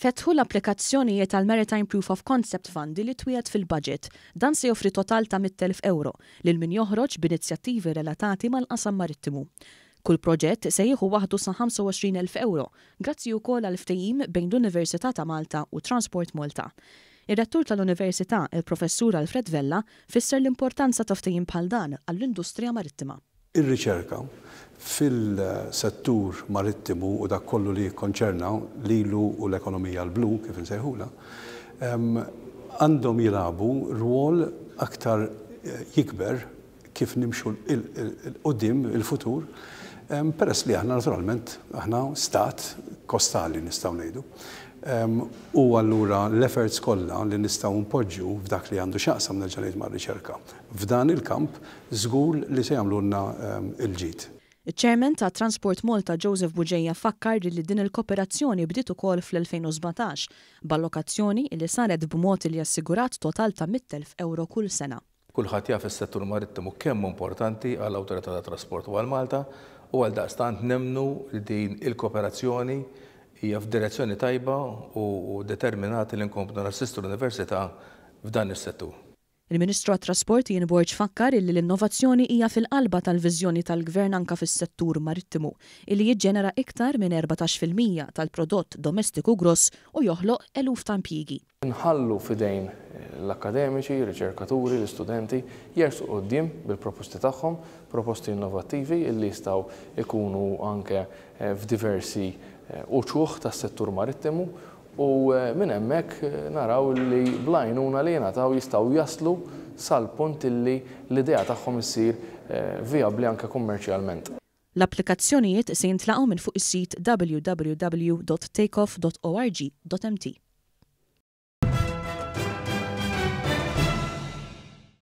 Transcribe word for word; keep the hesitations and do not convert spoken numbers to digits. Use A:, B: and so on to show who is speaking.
A: Fetħu l-applikazzjonijiet għal Maritime Proof of Concept Fund li twiegħed fil-budget. Dan se joffri total ta' mitt elf euro lil min joħroġ b'inizjattivi relatati mal-qasam marittimu. Kull proġett se jieħu waħdu sa ħamsa u għoxrin elf euro, grazzi wkoll għal ftehim bejn l-Università ta' Malta u Transport Malta. Ir-rettur tal-Università, il-Professur Alfred Vella, fisser l-importanza ta' ftehim bħal dan għall-industrija marittima.
B: Ir-riċerka fil-settur marittimu u dak kollu li jikkonċerna lilu u l-ekonomija l-blu, kif insejħula, għandhom jilagħbu rwol aktar eh, jikber kif nimxu 'l quddiem il-futur, peress li aħna naturalment aħna stat kostali, nistgħu ngħidu. U allura l-efforts kollha li nistgħu npoġġu f'dak li għandu x'jaqsam, nerġa' ngħid, mar-riċerka f'dan il-kamp, żgur li se jagħmlulna il-ġid.
A: Il-Chairman ta' Transport Malta Joseph Bugeja fakkar li din il-kooperazzjoni bdiet ukoll fl-elfejn u sbatax b'allokazzjoni li saret b'mod li assigurat total ta' mitt elf euro kull sena.
C: Kulħadd jaf is-settur marittimu kemm importanti għall awtorità ta' trasport u għal Malta u għal daqstant nemmnu li din il-kooperazzjoni hija f'direzzjoni tajba u determinati li nkomplu nassistu l-Università f'dan is-settur.
A: Il-Ministru għat-Trasport Ian Borg fakkar illi l-innovazzjoni hija fil-qalba tal-viżjoni tal-Gvern anka fis-settur marittimu, illi jiġġenera iktar minn erbatax fil-mija tal-prodott domestiku gross u joħloq eluf ta' impjiegi.
D: Nħallu f'idejn l-akademiċi, riċerkaturi, l-istudenti jersqu quddiem bil-proposti tagħhom, proposti innovattivi illi jistgħu ikunu anke eh, f'diversi eh, uċuħ tas-settur marittimu u eh, minn hemmhekk eh, naraw li bl-għajnuna li jingħataw jistgħu jaslu sal-punt illi l-idea tagħhom issir eh, vijabbli anke kummerċjalment.
A: L-applikazzjonijiet se jintlaqgħu minn fuq is-sit w w w dot takeoff dot org dot m t.